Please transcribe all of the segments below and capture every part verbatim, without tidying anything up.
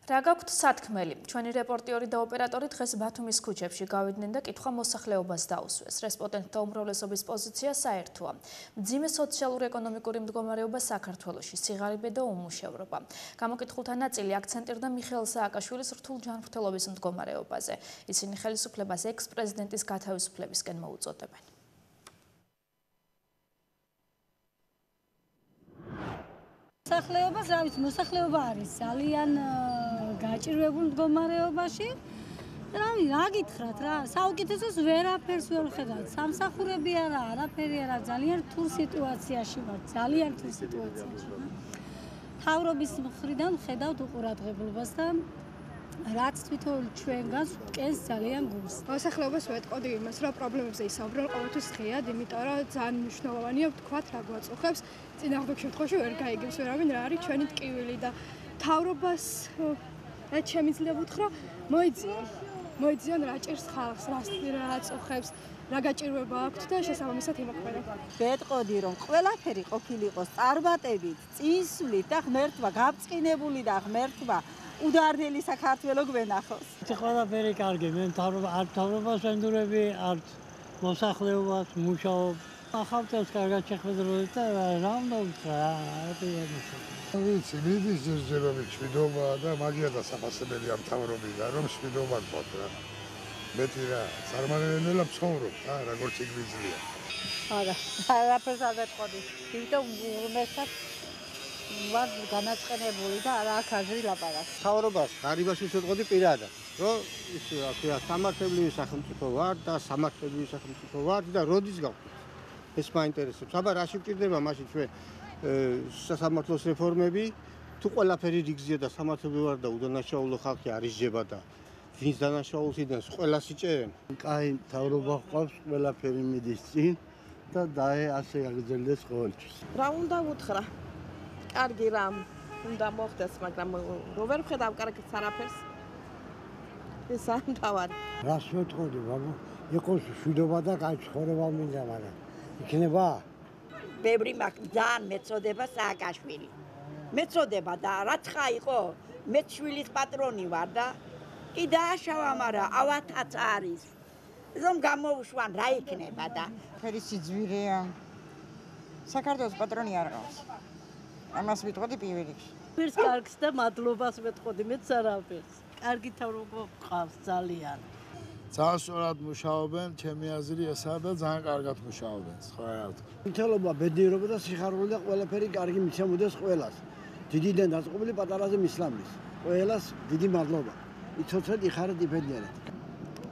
რა გაქვთ სათქმელი? ჩვენი რეპორტიორი და ოპერატორი დღეს ბათუმის ქუჩებში გავიდნენ და კითხვა მოსახლეობას დაუსვეს. რესპონდენტთა უმრავლესობის პოზიცია საერთოა. მძიმე სოციალურ-ეკონომიკური მდგომარეობა საქართველოში, სიღარიბე და უმუშევრობა. გამოკითხულთა ნაწილი აქცენტირდა მიხეილ სააკაშვილის რთულ ჯანმრთელობის მდგომარეობაზე. ისინი ხელისუფლებას ექს-პრეზიდენტის გათავისუფლებისკენ მოუწოდებენ. მოსახლეობას, რა ვიცი, მოსახლეობა არის ძალიან გაჭირვებულ მდგომარეობაში. რა რა გითხრათ რა, საუკეთესოს ვერაფერს ვერ ვხედავთ. სამსახურები არა, არაფერი არა, ძალიან რთულ სიტუაციაში ვართ, ძალიან რთულ სიტუაციაში. მთავრობის მხრიდან ვხედავთ უყურადღებობას და რაც თვითონ ჩვენგანს ვკენს ძალიან გულს. მოსახლეობას ვეტყოდი იმას, რომ პრობლემებზე ისაუბრონ ყოველთვის ღიად, იმიტომ რომ ძალიან მნიშვნელოვანია ვთქვათ, რა გვაწუხებს. წინააღმდეგ შემთხვევაში ვერ გაიგებს ვერავინ რა არის ჩვენი ტკივილი და მთავრობას რაც შემიძლია ვუთხრა, მოიძიონ. მოიძიონ რა ჭირს ხალხს, რა აწუხებს, რა გაჭირვება აქვთ და შესაბამისად იმოქმედონ. ვეტყოდი რომ ყველაფერი ყოფილიყოს წარმატებით, წინსვლით და ღმერთმა გაბრწყინებული და ღმერთმა უდარდელი საქართველო გვენახოს. ყველაფერი კარგი, მე მთავრობა არ მთავრობას ვენდურები, არ მოსახლეობას, მუშაობს. ახალწელს კარგად შეხვედრებით და რა უნდა ვთქვა, რა ვიცი, მიდის ჯერჯერობით შვიდობა და მაგია დასაფასებელი ამ მთავრობიდან, რომ შვიდობა გქონდ რა. მეტი რა, წარმატებულად ცხოვრობ რა, როგორც იგვიძლია. არა, არაფერს არ ვეტყოდი. იმიტომ უმეტად ვარ განაწყენებული და არა აქ აზრი ლაპარაკი. მთავრობას ღარიბაში ვეტყოდი პირადად, რომ ის რა ქვია, სამართლებრივი სახელმწიფო ვარ და სამართლებრივი სახელმწიფო ვარ და როდის გავხდი. ეს მაინტერესებს. აბა რაში გვჭირდება მაშინ ჩვენ სასამართლოს რეფორმები, თუ ყველაფერი რიგზია და სამართლებრივი ვარ და უდანაშაულო ხალხი არ ისჯება და ვინც დანაშაულს იდენს, ყველას იჭერენ. კაი, მთავრობა ყავს, ყველაფერი მიდის წინ და დაე ასე აგრძელდეს ყოველთვის. რა უნდა უთხრა? კარგი რამ უნდა მოხდეს, მაგრამ რო ვერ ვხედავ კარგს არაფერს. ეს ამთავარი. რას ვეტყოდი, ბაბა? იყოს შვიდობა და კაი ცხოვრება მინდა, მაგრამ იქნება? ბევრი მაქვს ძალიან მეწოდება სააკაშვილი. მეწოდება და რაცხა იყო, მე შვილის პატრონი ვარ და კი დააშავა, მაგრამ ავათაც არის. რომ გამოვშვან რა იქნება და ფერი სიძვირეა. საქართველოს პატრონი არ ყავს. ამას ვიტყოდი პირველ რიგში. ვერც კარგს და მადლობას ვეტყოდი, მეც არაფერს. კარგი მთავრობა გყავს ძალიან. ძალიან სწორად მუშაობენ, ჩემი აზრი ესაა და ძალიან კარგად მუშაობენ, ხო რა ვთქვა. მითელობა, ბედნიერობა და სიხარული და ყველაფერი კარგი მიცემოდეს ყველას. დიდიდან დაწყობილი პატარაზე მისლამის. ყველას დიდი მადლობა. იცოცხლეთ, იხარეთ, იბედნიერეთ.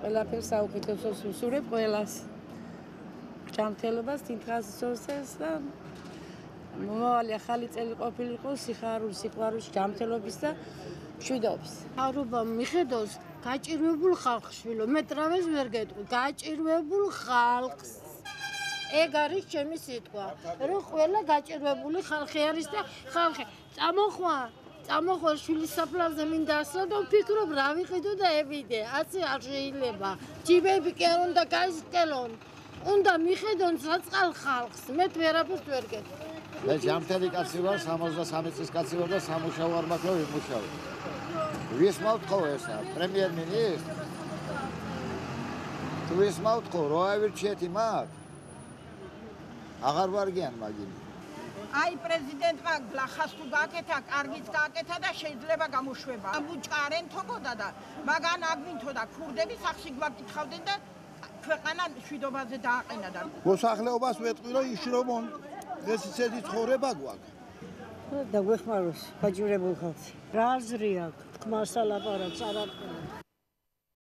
ყველაფერს საუკეთესოს ვუსურებ ყველას. ჯანმრთელობას, თინთხას სორსეს და მომავალი ახალი წელი ყოფილიყო სიხარული, სიყვარულის, ჯანმრთელობის და მშვიდობის. მთავრობა მიხედავს გაჭირვებულ ხალხს, შვილო, მე ტრავეს ვერ გეტყვი, გაჭირვებულ ხალხს. ეგ არის ჩემი სიტყვა, რომ ყველა გაჭირვებული ხალხი არის და ხალხი წამოხვა, წამოხვა შვილის საფლავზე მინდა ასლა და ვფიქრობ რა ვიყიდო და ევიდე, ასე არ შეიძლება. ჯიბები კი არ უნდა გაისკელონ, უნდა მიხედონ საწყალ ხალხს, მე ვერაფერს ვერ გეტყვი. მე ჯანმრთელი კაცი ვარ, სამოცდასამი წლის კაცი ვარ და სამუშაო არ მაქვს, რომ ვიმუშავო. ვისმავთ ხო ესა, პრემიერ-მინისტრ? თუ ვისმავთ ხო, რო ავირჩიეთ იმათ? აღარ ვარგიან მაგინი. აი პრეზიდენტმა გლახას თუ გააკეთა, კარგიც გააკეთა და შეიძლება გამოშვება. ამუჭკარენ თოგოდა და მაგან აგვინთო და ქურდები სახში გვაკითხავდნენ და ქვეყანა შვიდობაზე დააყენა და მოსახლეობას ვეტყვი, რომ იშრომონ, ეს ისეთი ცხოვრება გვაქვს. და გვეხმაროს გაჭირვებულ ხალხს. რა აზრი აქვს? თქმასა ლაპარაკს არ აქვს.